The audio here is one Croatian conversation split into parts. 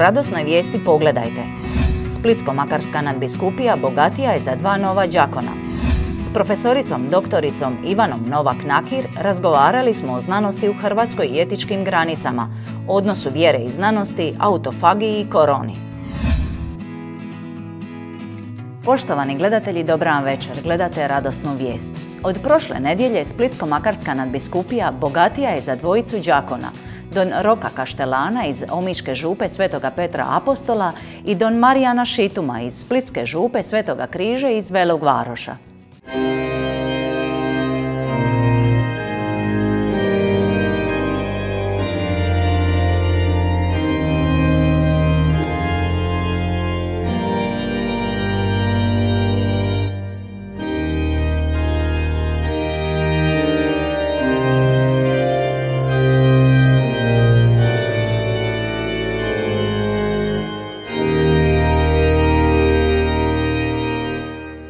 radosnoj vijesti pogledajte. Splitsko-makarska nadbiskupija bogatija je za 2 nova đakona. S profesoricom doktoricom Ivanom Novak-Nakir razgovarali smo o znanosti u Hrvatskoj i etičkim granicama, odnosu vjere i znanosti, autofagiji i koroni. Poštovani gledatelji, dobra vam večer. Gledate radosnu vijest. Od prošle nedjelje Splitsko-makarska nadbiskupija bogatija je za 2 đakona, don Roka Kaštelana iz Omiške župe Svetoga Petra Apostola i don Marijana Šituma iz Splitske župe Svetoga Križa iz Velog Varoša.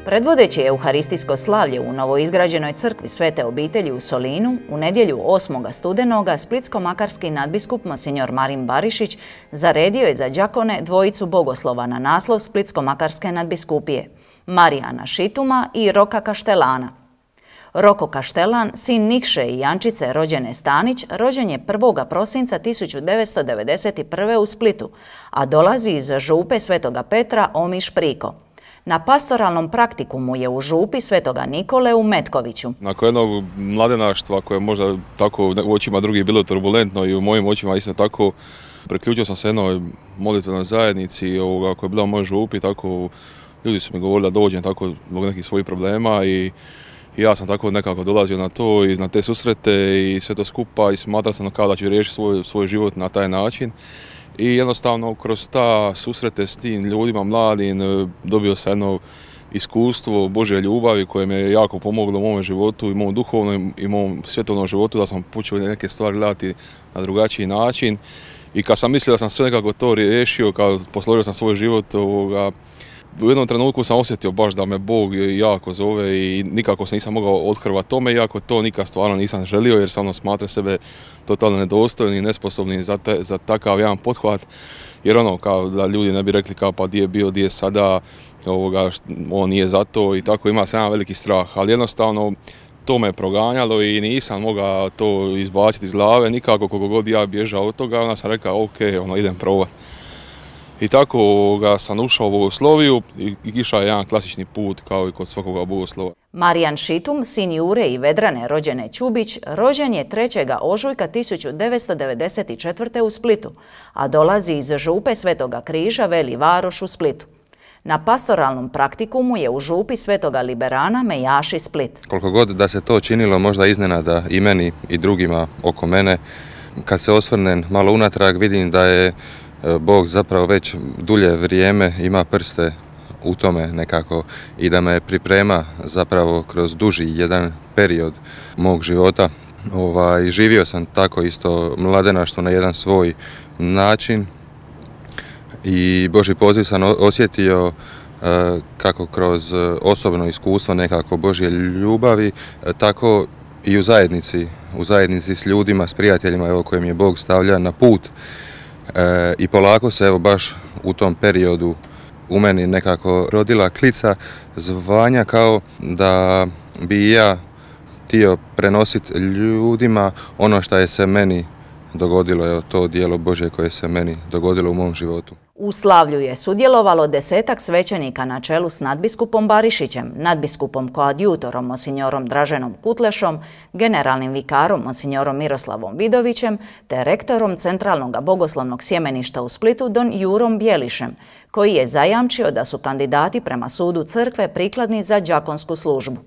Predvodeći euharistijsko slavlje u novoizgrađenoj crkvi Svete obitelji u Solinu, u nedjelju 8. studenoga splitsko-makarski nadbiskup monsignor Marin Barišić zaredio je za đakone 2 bogoslova na naslov Splitsko-makarske nadbiskupije, Marijana Šituma i Roka Kaštelana. Roko Kaštelan, sin Nikše i Jančice rođene Stanić, rođen je 1. prosinca 1991. u Splitu, a dolazi iz župe Svetoga Petra Omiš Priko. Na pastoralnom praktikumu je u župi Svetoga Nikole u Metkoviću. Nakon jednog mladenaštva koje možda tako u očima drugih bilo turbulentno i u mojim očima isto tako, priključio sam se jednoj molitvenoj zajednici koja je bila u mojoj župi, tako ljudi su mi govorili da dođem tako zbog nekih svojih problema i ja sam tako nekako dolazio na to i na te susrete i sve to skupa i smatrao sam kao da ću riješiti svoj život na taj način. I jednostavno kroz ta susrete s tim ljudima mladim dobio sam jedno iskustvo Božje ljubavi koje mi je jako pomoglo u mom životu i mom duhovnom i mom svjetovnom životu, da sam počeo neke stvari gledati na drugačiji način. I kad sam mislio da sam sve nekako to riješio, kad posložio sam svoj život, u jednom trenutku sam osjetio baš da me Bog jako zove i nikako se nisam mogao othrvati tome, iako to nikad stvarno nisam želio jer sam smatrao sebe totalno nedostojnim i nesposobnim za takav jedan pothvat. Jer kao da ljudi ne bi rekli kao pa di je bio, di je sada, on nije za to i tako ima sam jedan veliki strah. Ali jednostavno to me proganjalo i nisam mogao to izbaciti iz glave nikako koliko god ja bježao od toga, onda sam rekao ok, idem probati. I tako sam ušao u bogosloviju i išao je jedan klasični put kao i kod svakoga bogoslova. Marijan Šitum, sin Jure i Vedrane rođene Čubić, rođen je 3. ožujka 1994. u Splitu, a dolazi iz župe Svetoga Križa Veli Varoš u Splitu. Na pastoralnom praktikumu je u župi Svetoga Liberana Mejaši Split. Koliko god da se to činilo možda iznenada i meni i drugima oko mene, kad se osvrnem malo unatrag vidim da je Bog zapravo već dulje vrijeme ima prste u tome nekako i da me priprema zapravo kroz duži jedan period mog života. Živio sam tako isto mladenaštvo na jedan svoj način i Božji poziv sam osjetio kako kroz osobno iskustvo nekako Božje ljubavi, tako i u zajednici s ljudima, s prijateljima koje mi je Bog stavlja na put. I polako se baš u tom periodu u meni nekako rodila klica zvanja kao da bi ja htio prenositi ljudima ono što je se meni dogodilo, to djelo Božje koje se meni dogodilo u mom životu. U slavlju je sudjelovalo 10-ak svećenika na čelu s nadbiskupom Barišićem, nadbiskupom koadjutorom monsignorom Draženom Kutlešom, generalnim vikarom monsignorom Miroslavom Vidovićem te rektorom Centralnog bogoslovnog sjemeništa u Splitu don Jurom Bjelišem, koji je zajamčio da su kandidati prema sudu crkve prikladni za đakonsku službu.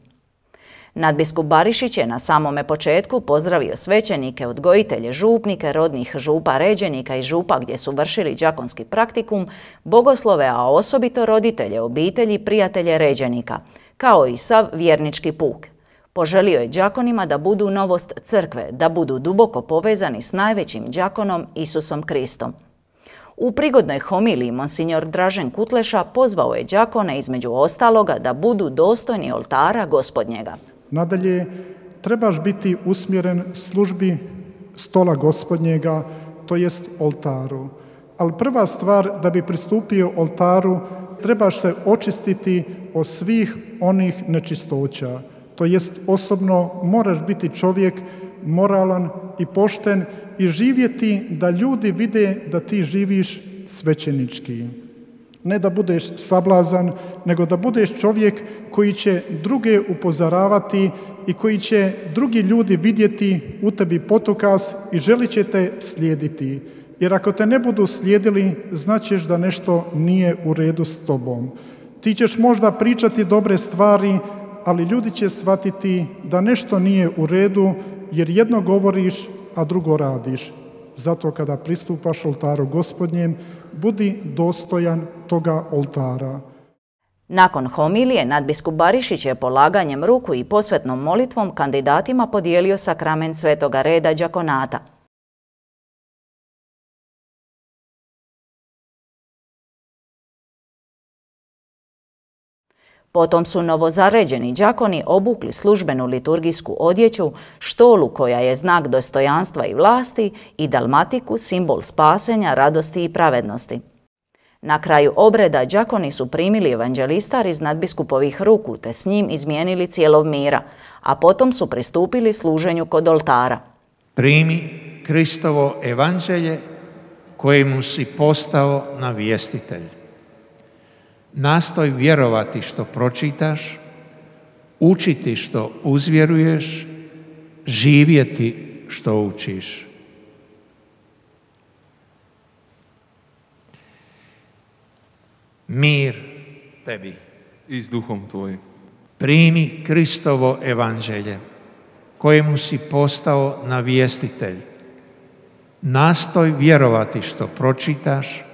Nadbiskup Barišić je na samome početku pozdravio svećenike, odgojitelje, župnike, rodnih župa ređenika i župa gdje su vršili đakonski praktikum, bogoslove, a osobito roditelje, obitelji, prijatelje ređenika, kao i sav vjernički puk. Poželio je đakonima da budu novost crkve, da budu duboko povezani s najvećim đakonom Isusom Kristom. U prigodnoj homiliji monsignor Dražen Kutleša pozvao je đakone između ostaloga da budu dostojni oltara Gospodnjega. Nadalje, trebaš biti usmjeren službi stola Gospodnjega, to jest oltaru. Ali prva stvar, da bi pristupio oltaru, trebaš se očistiti od svih onih nečistoća. To jest, osobno moraš biti čovjek moralan i pošten i živjeti da ljudi vide da ti živiš svećenički. Ne da budeš sablazan, nego da budeš čovjek koji će druge upozoravati i koji će drugi ljudi vidjeti u tebi putokaz i želit će te slijediti. Jer ako te ne budu slijedili, značiš da nešto nije u redu s tobom. Ti ćeš možda pričati dobre stvari, ali ljudi će shvatiti da nešto nije u redu, jer jedno govoriš, a drugo radiš. Zato kada pristupaš oltaru Gospodnjem, budi dostojan toga oltara. Nakon homilije, nadbiskup Barišić je polaganjem ruku i posvetnom molitvom kandidatima podijelio sakrament svetoga reda đakonata. Potom su novozaređeni đakoni obukli službenu liturgijsku odjeću, štolu koja je znak dostojanstva i vlasti i dalmatiku, simbol spasenja, radosti i pravednosti. Na kraju obreda đakoni su primili evanđelistar iz nadbiskupovih ruku te s njim izmijenili cijelog mira, a potom su pristupili služenju kod oltara. Primi Kristovo evanđelje kojemu si postao navjestitelj. Nastoj vjerovati što pročitaš, učiti što uzvjeruješ, živjeti što učiš. Mir tebi. I s duhom tvojim. Primi Kristovo evanđelje kojemu si postao navjestitelj. Nastoj vjerovati što pročitaš,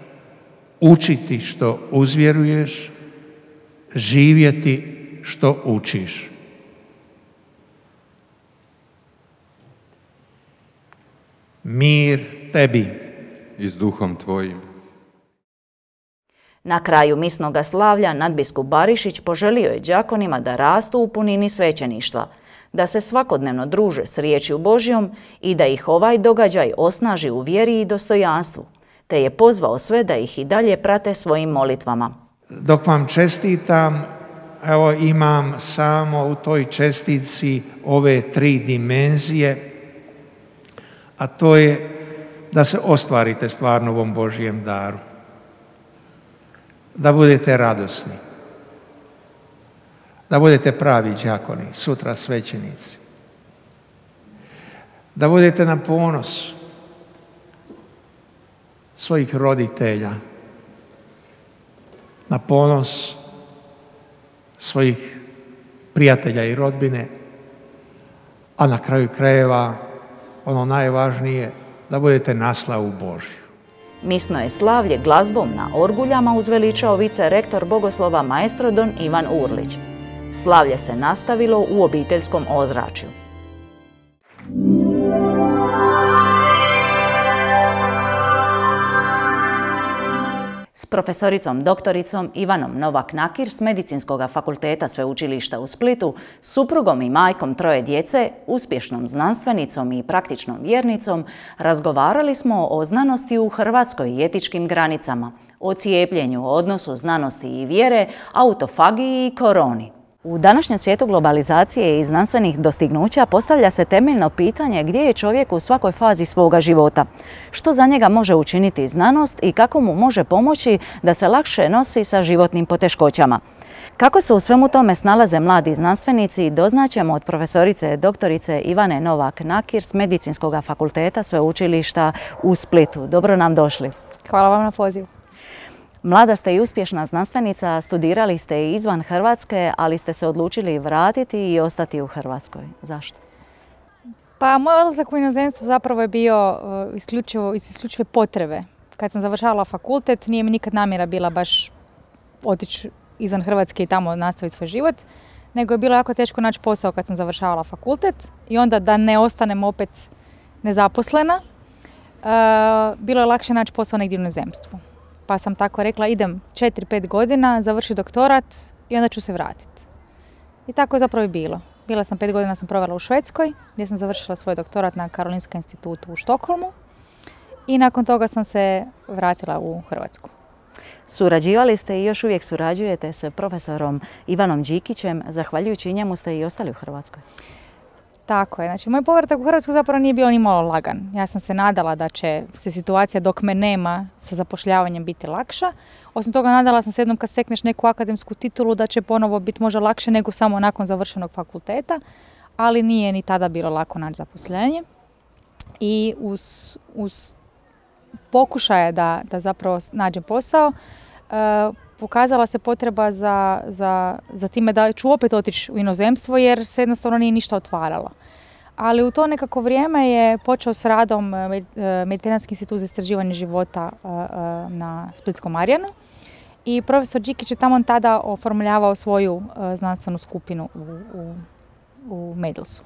učiti što uzvjeruješ, živjeti što učiš. Mir tebi. I s duhom tvojim. Na kraju misnoga slavlja nadbiskup Barišić poželio je đakonima da rastu u punini svećeništva, da se svakodnevno druže s riječju Božjom i da ih ovaj događaj osnaži u vjeri i dostojanstvu, te je pozvao sve da ih i dalje prate svojim molitvama. Dok vam čestitam, evo imam samo u toj čestici ove 3 dimenzije, a to je da se ostvarite stvarno ovom Božjem daru. Da budete radosni. Da budete pravi đakoni, sutra svećenici. Da budete na ponos svojih roditelja, na ponos svojih prijatelja i rodbine, a na kraju krajeva ono najvažnije, da budete na slavu Božju. Misno je slavlje glazbom na orguljama uzveličao vice-rektor bogoslova maestro don Ivan Urlić. Slavlje se nastavilo u obiteljskom ozračju. S profesoricom doktoricom Ivanom Novak-Nakir s Medicinskog fakulteta Sveučilišta u Splitu, suprugom i majkom 3 djece, uspješnom znanstvenicom i praktičnom vjernicom, razgovarali smo o znanosti u Hrvatskoj i etičkim granicama, o cijepljenju, odnosu znanosti i vjere, autofagiji i koroni. U današnjem svijetu globalizacije i znanstvenih dostignuća postavlja se temeljno pitanje gdje je čovjek u svakoj fazi svoga života, što za njega može učiniti znanost i kako mu može pomoći da se lakše nosi sa životnim poteškoćama. Kako se u svemu tome snalaze mladi znanstvenici, doznaćemo od profesorice doktorice Ivane Novak-Nakir s Medicinskog fakulteta Sveučilišta u Splitu. Dobro nam došli. Hvala vam na pozivu. Mlada ste i uspješna znanstvenica, studirali ste i izvan Hrvatske, ali ste se odlučili vratiti i ostati u Hrvatskoj. Zašto? Pa moj odlazak u inozemstvo zapravo je bio iz isključive potrebe. Kad sam završavala fakultet, nije mi nikad namjera bila baš otići izvan Hrvatske i tamo nastaviti svoj život, nego je bilo jako teško naći posao kad sam završavala fakultet i onda da ne ostanem opet nezaposlena, bilo je lakše naći posao negdje u inozemstvu. Pa sam tako rekla, idem 4-5 godina, završiti doktorat i onda ću se vratiti. I tako je zapravo i bilo. Bila sam 5 godina sam provela u Švedskoj, gdje sam završila svoj doktorat na Karolinskom institutu u Štokholmu. i nakon toga sam se vratila u Hrvatsku. Surađivali ste i još uvijek surađujete s profesorom Ivanom Đikićem, zahvaljujući njemu ste i ostali u Hrvatskoj. Tako je, znači moj povratak u Hrvatsku zapravo nije bio ni malo lagan. Ja sam se nadala da će se situacija dok me nema sa zapošljavanjem biti lakša. Osim toga nadala sam se jednom kad stekneš neku akademsku titulu da će ponovo biti možda lakše nego samo nakon završenog fakulteta, ali nije ni tada bilo lako naći zaposlenje. I uz pokušaje da zapravo nađem posao, pokazala se potreba za time da ću opet otići u inozemstvo jer se jednostavno nije ništa otvaralo. Ali u to nekako vrijeme je počeo s radom Mediteranski institut za istraživanje života na Splitskom Marjanu i profesor Đikić je tamo tada oformljavao svoju znanstvenu skupinu u Medilsu.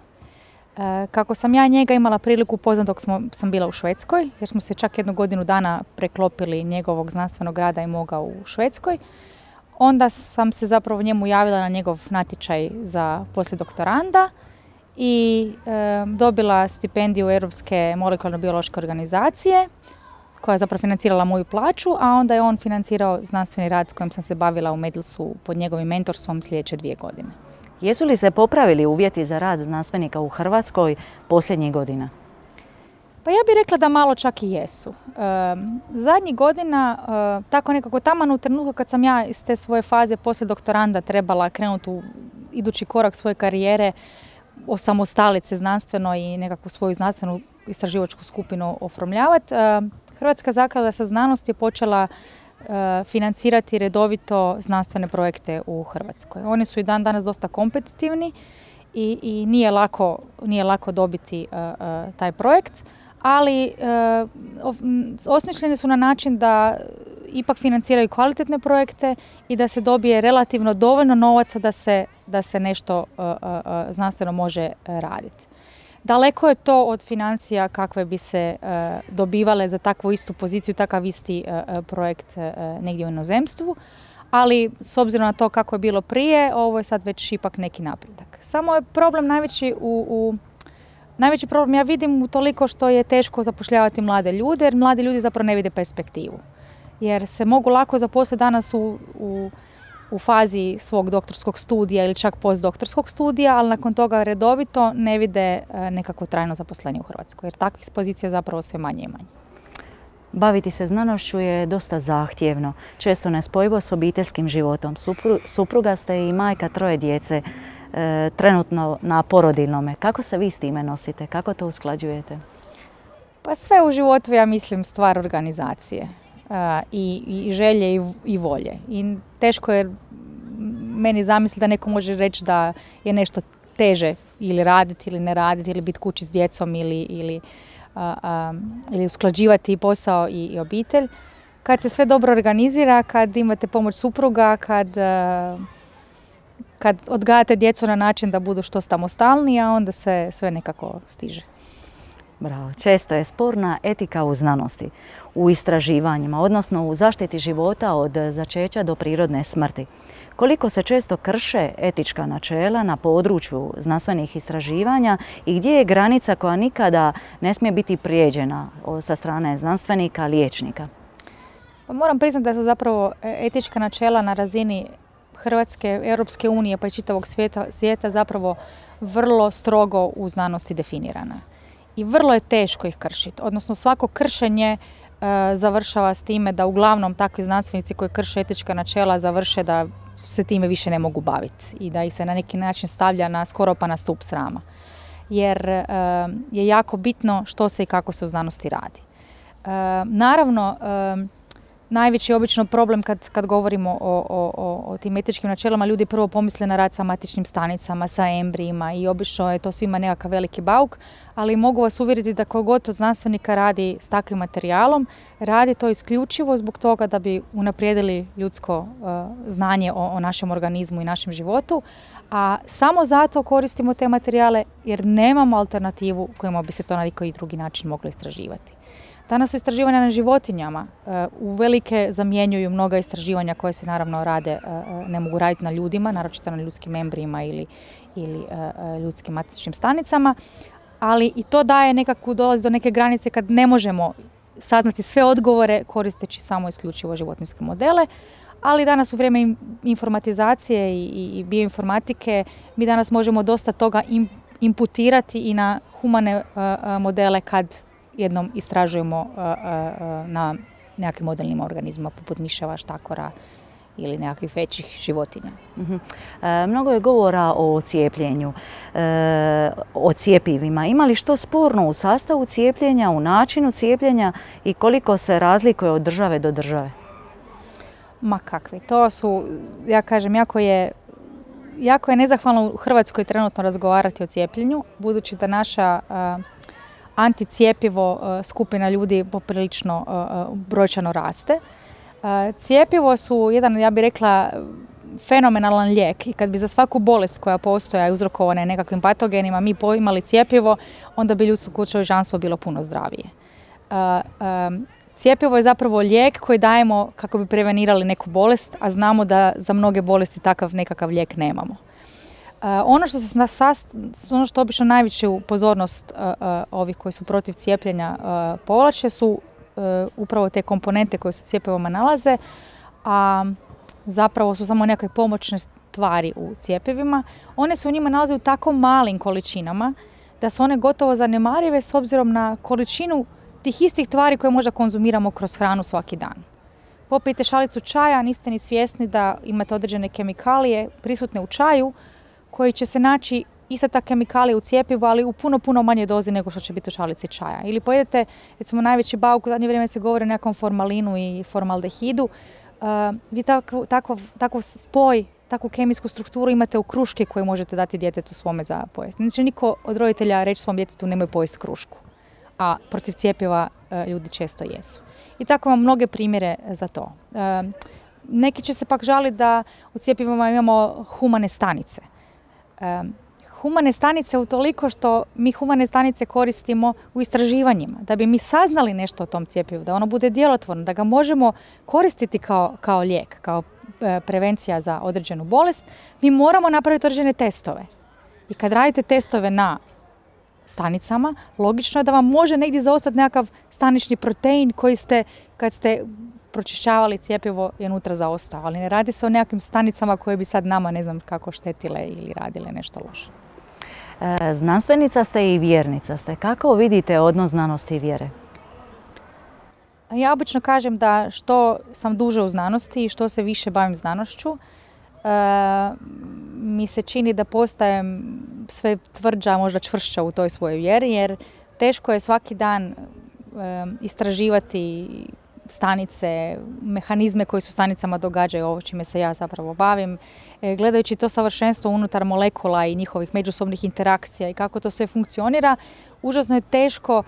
Kako sam ja njega imala priliku upoznati dok sam bila u Švedskoj, jer smo se čak 1 godinu dana preklopili njegovog znanstvenog rada i moga u Švedskoj, onda sam se zapravo njemu javila na njegov natječaj za poslijedoktoranda i dobila stipendiju Europske molekularno-biološke organizacije koja je zapravo financirala moju plaću, a onda je on financirao znanstveni rad s kojim sam se bavila u Medilsu pod njegovim mentorstvom sljedeće 2 godine. Jesu li se popravili uvjeti za rad znanstvenika u Hrvatskoj posljednjih godina? Pa ja bih rekla da malo čak i jesu. Zadnjih godina, tako nekako taman u trenutku kad sam ja iz te svoje faze poslije doktoranda trebala krenuti u idući korak svoje karijere, osamostaliti se znanstveno i nekakvu svoju znanstvenu istraživačku skupinu oformljavati, Hrvatska zaklada za znanost je počela financirati redovito znanstvene projekte u Hrvatskoj. Oni su i dan danas dosta kompetitivni i nije lako dobiti taj projekt, ali osmišljeni su na način da ipak financiraju kvalitetne projekte i da se dobije relativno dovoljno novaca da se nešto znanstveno može raditi. Daleko je to od financija kakve bi se dobivale za takvu istu poziciju, takav isti projekt negdje u inozemstvu, ali s obzirom na to kako je bilo prije, ovo je sad već ipak neki napredak. Samo je problem najveći problem ja vidim u toliko što je teško zapošljavati mlade ljude, jer mladi ljudi zapravo ne vide perspektivu. Jer se mogu lako zaposliti danas u fazi svog doktorskog studija ili čak postdoktorskog studija, ali nakon toga redovito ne vide nekako trajno zaposlenje u Hrvatskoj, jer takvih pozicija zapravo sve manje i manje. Baviti se znanošću je dosta zahtjevno, često nespojivo s obiteljskim životom. Supruga ste i majka 3 djece, trenutno na porodiljnome. Kako se vi s time nosite? Kako to usklađujete? Pa sve u životu, ja mislim, stvar organizacije. I želje i volje. I teško je meni zamisliti da neko može reći da je nešto teže ili raditi ili ne raditi ili biti kući s djecom ili usklađivati posao i obitelj. Kad se sve dobro organizira, kad imate pomoć supruga, kad odgajate djecu na način da budu što samostalniji, a onda se sve nekako stiže. Bravo. Često je sporna etika u znanosti, u istraživanjima, odnosno u zaštiti života od začeća do prirodne smrti. Koliko se često krše etička načela na području znanstvenih istraživanja i gdje je granica koja nikada ne smije biti prijeđena sa strane znanstvenika, liječnika? Pa moram priznati da su zapravo etička načela na razini Hrvatske, Europske unije pa i čitavog svijeta zapravo vrlo strogo u znanosti definirana. I vrlo je teško ih kršiti. Odnosno svako kršenje završava s time da uglavnom takvi znanstvenici koji krše etička načela završe da se time više ne mogu baviti i da ih se na neki način stavlja skoro pa na stup srama. Jer je jako bitno što se i kako se u znanosti radi. Naravno, najveći je obično problem kad govorimo o tim etičkim načelima, ljudi prvo pomisle na rad sa matičnim stanicama, sa embrijima i obično je to svima nekakav veliki bauk, ali mogu vas uvjeriti da tko god od znanstvenika radi s takvim materijalom, radi to isključivo zbog toga da bi unaprijedili ljudsko znanje o našem organizmu i našem životu, a samo zato koristimo te materijale jer nemamo alternativu kojima bi se to na neki drugi način moglo istraživati. Danas su istraživanja na životinjama. Uvelike zamjenjuju mnoga istraživanja koje se naravno rade, ne mogu raditi na ljudima, naročito na ljudskim embrijima ili ljudskim matičnim stanicama, ali i to daje nekakvu, dolazi do neke granice kad ne možemo saznati sve odgovore koristeći samo isključivo životinjske modele. Ali danas u vrijeme informatizacije i bioinformatike mi danas možemo dosta toga imputirati i na humane modele kad jednom istražujemo na nekakvim modelnim organizmima poput miševa, štakora ili nekakvih većih životinja. Mnogo je govora o cijepljenju, o cjepivima. Ima li što sporno u sastavu cijepljenja, u načinu cijepljenja i koliko se razlikuje od države do države? Ma kakvi. To su, ja kažem, jako je nezahvalno u Hrvatskoj trenutno razgovarati o cijepljenju, budući da naša anticijepivo skupina ljudi poprilično brojčano raste. Cijepivo su jedan, ja bih rekla, fenomenalan lijek i kad bi za svaku bolest koja postoja i uzrokovana je nekakvim patogenima mi imali cijepivo, onda bi ljudsko čovječanstvo bilo puno zdravije. Cijepivo je zapravo lijek koji dajemo kako bi prevenirali neku bolest, a znamo da za mnoge bolesti takav nekakav lijek nemamo. Ono što obično najveću pozornost ovih koji su protiv cijepljenja povlače su upravo te komponente koje su u cjepivima nalaze, a zapravo su samo nekakve pomoćne tvari u cjepivima. One se u njima nalaze u tako malim količinama da su one gotovo zanemarive s obzirom na količinu tih istih tvari koje možda konzumiramo kroz hranu svaki dan. Popijete šalicu čaja, niste ni svjesni da imate određene kemikalije prisutne u čaju koji će se naći ista ta kemikalija u cjepivu, ali u puno manje dozi nego što će biti u šalici čaja. Ili pojedete, recimo najveći bauk, u zadnje vrijeme se govori o nekom formalinu i formaldehidu, vi takav spoj, takvu kemijsku strukturu imate u kruški koju možete dati djetetu svome za pojesti. Znači niko od roditelja reći svom djetetu nemoj pojesti krušku, a protiv cjepiva ljudi često jesu. I tako imamo mnoge primjere za to. Neki će se pak žaliti da u cjepivima imamo humane stanice. Humane stanice utoliko što mi humane stanice koristimo u istraživanjima, da bi mi saznali nešto o tom cjepivu, da ono bude djelotvorno, da ga možemo koristiti kao lijek, kao prevencija za određenu bolest, mi moramo napraviti određene testove. I kad radite testove na stanicama, logično je da vam može negdje zaostati nekakav stanični protein koji ste, kad ste pročišćavali cjepivo, je unutra zaostao. Ali ne radi se o nekakvim stanicama koje bi sad nama, ne znam kako, štetile ili radile nešto loše. Znanstvenica ste i vjernica ste. Kako vidite odnos znanosti i vjere? Ja obično kažem da što sam duže u znanosti i što se više bavim znanošću, mi se čini da postajem sve tvrđa, možda čvršća u toj svojoj vjeri, jer teško je svaki dan istraživati stanice, mehanizme koji su stanicama događaju, ovo čime se ja zapravo bavim, gledajući to savršenstvo unutar molekula i njihovih međusobnih interakcija i kako to sve funkcionira, užasno je teško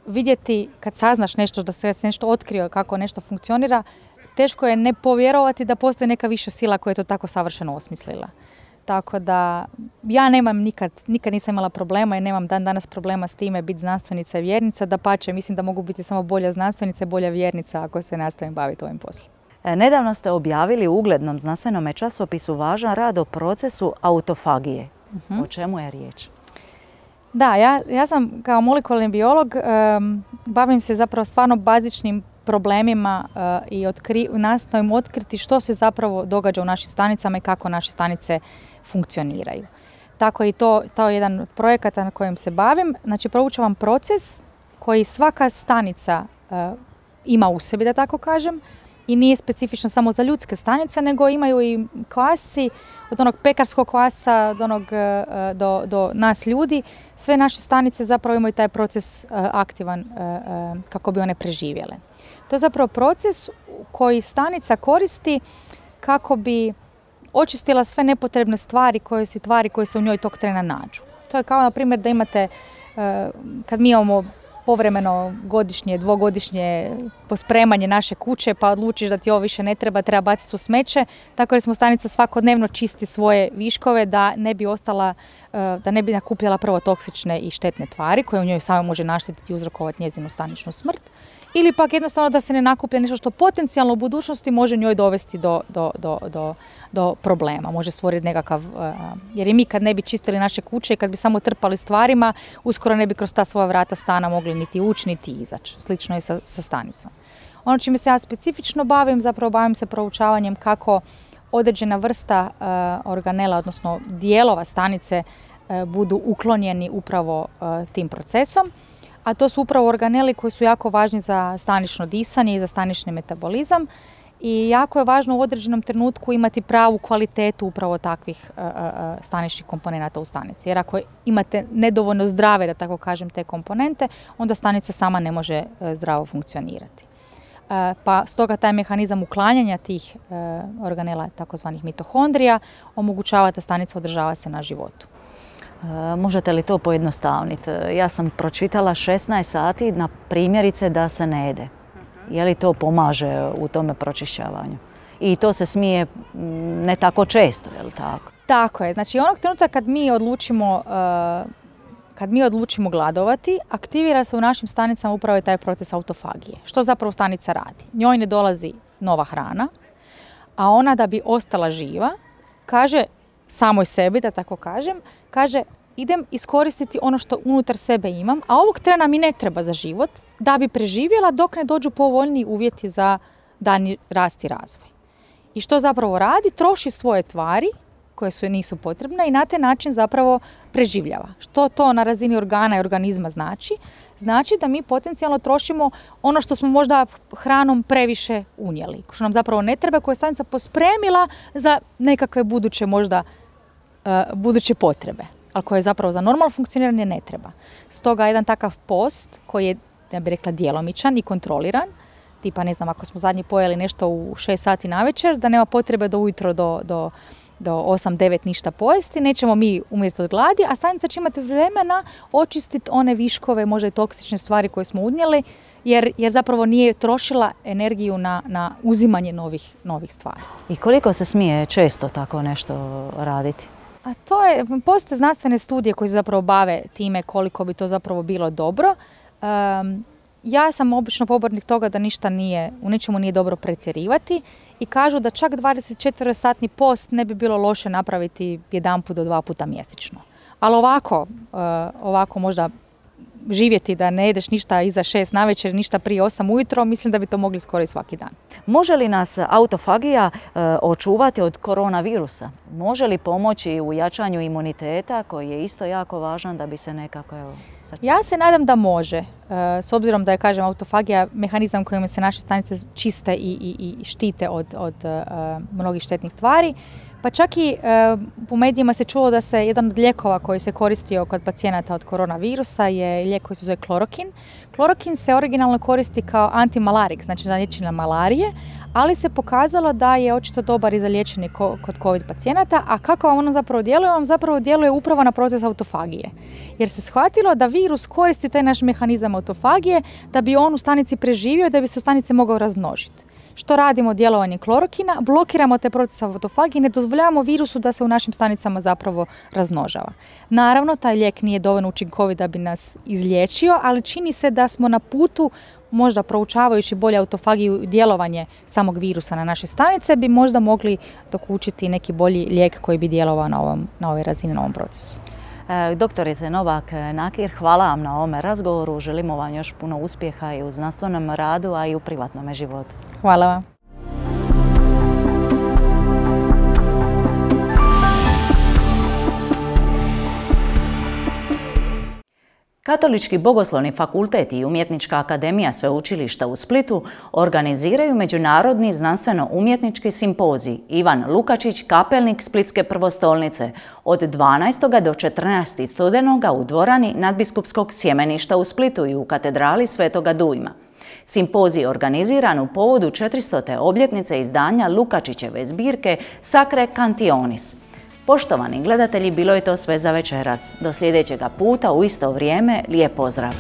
vidjeti kad saznaš nešto, da se nešto otkrio kako nešto funkcionira, teško je ne povjerovati da postoji neka viša sila koja je to tako savršeno osmislila. Tako da ja nemam nikad nisam imala problema i nemam dan danas problema s time biti znanstvenica i vjernica. Dapače, mislim da mogu biti samo bolja znanstvenica i bolja vjernica ako se nastavim baviti ovim poslom. Nedavno ste objavili u uglednom znanstvenom časopisu važan rad o procesu autofagije. O čemu je riječ? Da, ja sam kao molekularni biolog, bavim se zapravo stvarno bazičnim problemima i nastojim otkriti što se zapravo događa u našim stanicama i kako naše stanice funkcioniraju. Tako i to je jedan od projekata na kojem se bavim. Znači, proučavam proces koji svaka stanica ima u sebi, da tako kažem, i nije specifično samo za ljudske stanice, nego imaju i kvasci, od onog pekarskog kvasca do nas ljudi. Sve naše stanice zapravo imaju taj proces aktivan kako bi one preživjele. To je zapravo proces koji stanica koristi kako bi očistila sve nepotrebne stvari koje se u njoj tog trena nađu. To je kao, na primjer, da imate, kad mi imamo povremeno godišnje, dvogodišnje pospremanje naše kuće, pa odlučiš da ti ovo više ne treba baciti u smeće, tako jer smo stanica svakodnevno čisti svoje viškove da ne bi ostala da ne bi nakupljala prvo toksične i štetne tvari koje u njoj samo može naštetiti i uzrokovati njezinu staničnu smrt, ili pak jednostavno da se ne nakuplja nešto što potencijalno u budućnosti može njoj dovesti do problema. Može stvoriti nekakav, jer i mi kad ne bi čistili naše kuće i kad bi samo trpali stvarima, uskoro ne bi kroz ta svoja vrata stana mogli niti ući, niti izaći. Slično je sa stanicom. Ono čime se ja specifično bavim, zapravo bavim se proučavanjem kako određena vrsta organela, odnosno dijelova stanice, budu uklonjeni upravo tim procesom. A to su upravo organeli koji su jako važni za stanično disanje i za stanični metabolizam. I jako je važno u određenom trenutku imati pravu kvalitetu upravo takvih staničnih komponenata u stanici. Jer ako imate nedovoljno zdrave, da tako kažem, te komponente, onda stanica sama ne može zdravo funkcionirati. Pa stoga taj mehanizam uklanjanja tih organela, takozvanih mitohondrija, omogućava da stanica održava se na životu. Možete li to pojednostavniti? Ja sam pročitala 16 sati na primjerice da se ne jede. Je li to pomaže u tome pročišćavanju? I to se smije ne tako često, je li tako? Tako je. Znači onog trenutka kad mi odlučimo gladovati, aktivira se u našim stanicama upravo taj proces autofagije. Što zapravo stanica radi? Njoj ne dolazi nova hrana, a ona da bi ostala živa, kaže samoj sebi, da tako kažem, kaže idem iskoristiti ono što unutar sebe imam, a ovog trena mi ne treba za život da bi preživjela dok ne dođu povoljniji uvjeti za daljnji rast i razvoj. I što zapravo radi? Troši svoje tvari koje nisu potrebne i na taj način zapravo preživljava. Što to na razini organa i organizma znači? Znači da mi potencijalno trošimo ono što smo možda hranom previše unijeli, što nam zapravo ne treba, koje je stanica pospremila za nekakve buduće potrebe, ali koje zapravo za normalno funkcioniranje ne treba. Stoga jedan takav post koji je, ja bih rekla, djelomičan i kontroliran, tipa ne znam, ako smo zadnji pojeli nešto u 6 sati navečer, da nema potrebe do ujutro do 8-9 ništa pojesti, nećemo mi umrijeti od gladi, a stanica će imati vremena očistiti one viškove, možda i toksične stvari koje smo unijeli, jer zapravo nije trošila energiju na uzimanje novih stvari. I koliko se smije često tako nešto raditi? A postoje znanstvene studije koje se zapravo bave time koliko bi to zapravo bilo dobro. Ja sam obično pobornik toga da u ničemu nije dobro pretjerivati i kažu da čak 24-satni post ne bi bilo loše napraviti 1 do 2 puta mjesečno. Ali ovako možda živjeti da ne jedeš ništa iza 6 navečer, ništa prije 8 ujutro, mislim da bi to mogli skoro i svaki dan. Može li nas autofagija očuvati od koronavirusa? Može li pomoći u jačanju imuniteta koji je isto jako važan da bi se nekako Ja se nadam da može, s obzirom da je, kažem, autofagija mehanizam kojim se naše stanice čiste i štite od mnogih štetnih tvari. Pa čak i u medijima se čulo da se jedan od lijekova koji se koristio kod pacijenata od koronavirusa je lijek koji se zove klorokin. Klorokin se originalno koristi kao antimalarik, znači za liječenje malarije, ali se pokazalo da je očito dobar i za liječenje kod COVID pacijenata, a kako vam ono zapravo djeluje? On zapravo djeluje upravo na proces autofagije. Jer se shvatilo da virus koristi taj naš mehanizam autofagije da bi on u stanici preživio i da bi se u stanici mogao razmnožiti. Što radimo djelovanjem klorokina? Blokiramo te procese autofagije i ne dozvoljavamo virusu da se u našim stanicama zapravo razmnožava. Naravno, taj lijek nije dovoljno učinkovit da bi nas izliječio, ali čini se da smo na putu, možda proučavajući bolje autofagiju i djelovanje samog virusa na naše stanice, bi možda mogli dokučiti neki bolji lijek koji bi djelovao na ovoj razini, na ovom procesu. Doktorice Novak-Nakir, hvala vam na ovome razgovoru. Želimo vam još puno uspjeha i u znanstvenom radu, a i u privatnom životu. Hvala vam. Katolički bogoslovni fakultet i Umjetnička akademija Sveučilišta u Splitu organiziraju međunarodni znanstveno-umjetnički simpozij Ivan Lukačić, kapelnik Splitske prvostolnice od 12. do 14. studenoga u dvorani Nadbiskupskog sjemeništa u Splitu i u katedrali Svetoga Dujma. Simpozij je organiziran u povodu 400. obljetnice izdanja Lukačićeve zbirke Sacre Cantionis. Poštovani gledatelji, bilo je to sve za večeras. Do sljedećega puta u isto vrijeme, lijep pozdrav!